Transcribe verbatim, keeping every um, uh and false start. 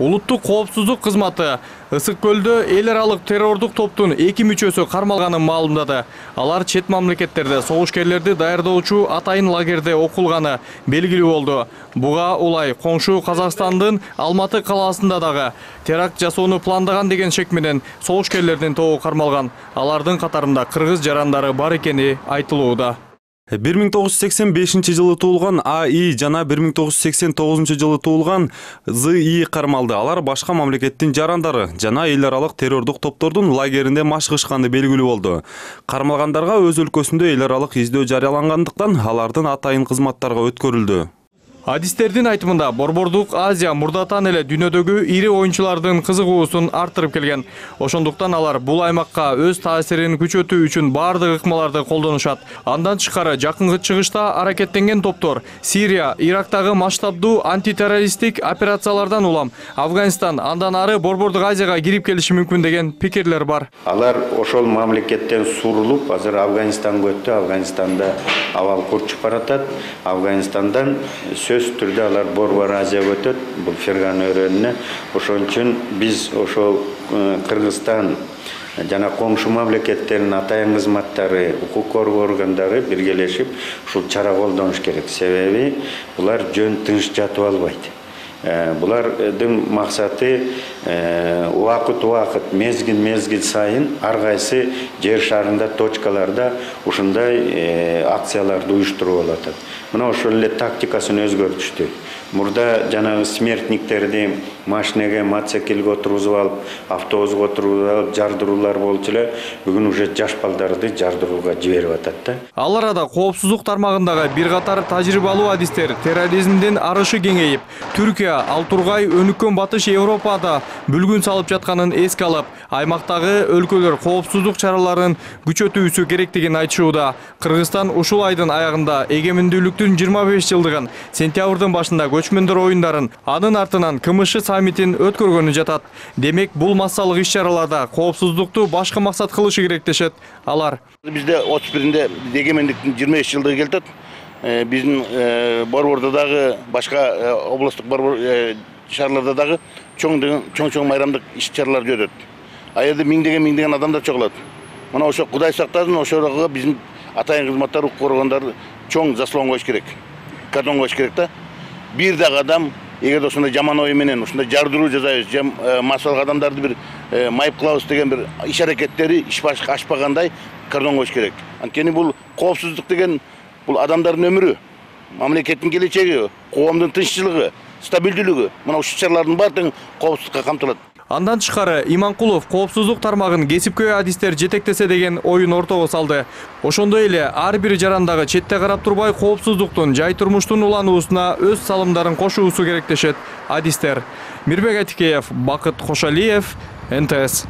Улуттук коопсуздук кызматы Ысык көлдө эл аралык террордук топтун эки мүчөсү кармалганын маалымдады. Алар чет мамлекеттерде согушкерлерди даярдоочу атайын лагерде окулганы белгилүү болду. Буга улай коңшу Казакстандын Алматы калаасында дагы теракт жасоону пландаган деген шек менен согушкерлердин тобу кармалган. Алардын катарында кыргыз жарандары бар экени айтылууда. бир миң тогуз жүз сексен бешинчи жылы туулган А И жана бир миң тогуз жүз сексен тогузунчу жылы туулган З И кармалды. Алар башка мамлекеттин жарандары жана эл аралык террордук топтордун лагеринде машыгышканы белгилүү болду. Кармалгандарга өз өлкөсүндө эл аралык издөө жарыялангандыктан алардын атайын кызматтарга өткөрүлдү. Адистердин айтымында Борбордук Азия мурдатан эле дүйнөдөгү ири оюнчулардын кызыгуусун арттырып келген. Ошондуктан алар бул аймакка өз таасирин күчөтүү үчүн бардык ыкмаларды колдонушат. Андан тышкары жакынкы чыгышта аракеттенген топтор Сирия, Ирактагы масштабдуу антитеррористтик операциялардан улам Афганистан, андан ары Борбордук Азияга кирип келиши мүмкүн деген пикирлер бар. Алар ошол мамлекеттен сурулуп, азыр Афганистанга өттү. Афганистанда абал курчуп баратат. Афганистандан сөз түрдө алар Борбор Азияга өтөт, бул Ферган өрөөнүнө. Ошон үчүн биз ошол Кыргызстан жана коңшу мамлекеттердин атайын кызматтары, укук коргоо органдары биргелешип ушул чара колдонуш керек. Себеби булар жөн тыныч жатып албайт. Булардын максаты убакыт-убакыт, мезгил-мезгил сайын ар кайсы жер шарында точкаларда ушундай акцияларды уюштуруп алат. Мына ошол эле тактикасын өзгөртүштү. Мурда жанагы смертниктерди машинеге, мотоциклге отургузуп алып, автобуска отургузуп алып жардыруулар болчу эле. Бүгүн уже жаш балдарды жардырууга жиберип атат да. Ал арада коопсуздук тармагындагы бир катар тажрыйбалуу адистер терроризмдин арышы кеңейип, Түркия, ал тургай өнүккөн Батыш Европада бүлгүн салып жатканын эске алып, аймактагы өлкөлөр коопсуздук чараларын күчөтүүсү керектигин айтышууда. Кыргызстан ушул айдын аягында эгемендүүлүктүн жыйырма беш жылдыгын, сентябрдын башында көчмөндөр оюндарын, анын артынан КМШ саммитин өткөргөнү жатат. Демек, бул массалык иш-чараларда коопсуздукту башка максат кылышы керек дешет алар. Бизде отуз биринде эгемендиктин жыйырма беш жылдыгы келет. Биздин борбордо дагы башка областтык борбор шаарларда дагы чоң-чоң майрамдык иш-чаралар өтөт. А жерде миңдеген миңдеген адамдар чогулат. Мына ошо Кудай сактасын, ошого биздин атайын кызматтар, укук коргондор чоң заслон коюш керек. Кардон коюш керек да. Бир дагы адам эгер ошондой жаман ой менен ушундай жардыруу жасайбыз, массалык адамдарды бир майып кылабыз деген бир иш-аракеттери иш башка ашпагандай кардон коюш керек. Анткени бул коопсуздук деген бул адамдардын өмүрү, мамлекеттин келечеги, коомдун тынччылыгы, стабилдүүлүгү. Мына ушул чаралардын баардыгы коопсуздукка камтылат. Андан тышкары Иманкулов коопсуздук тармагын кесипкөй адистер жетектесе деген оюн ортого салды. Ошондой эле ар бир жарандагы четте карап турбай коопсуздуктун, жай турмуштун улануусуна өз салымдарын кошуусу керек дешет адистер. Мирбек Атикеев, Бакыт Кошалиев, Н Т С.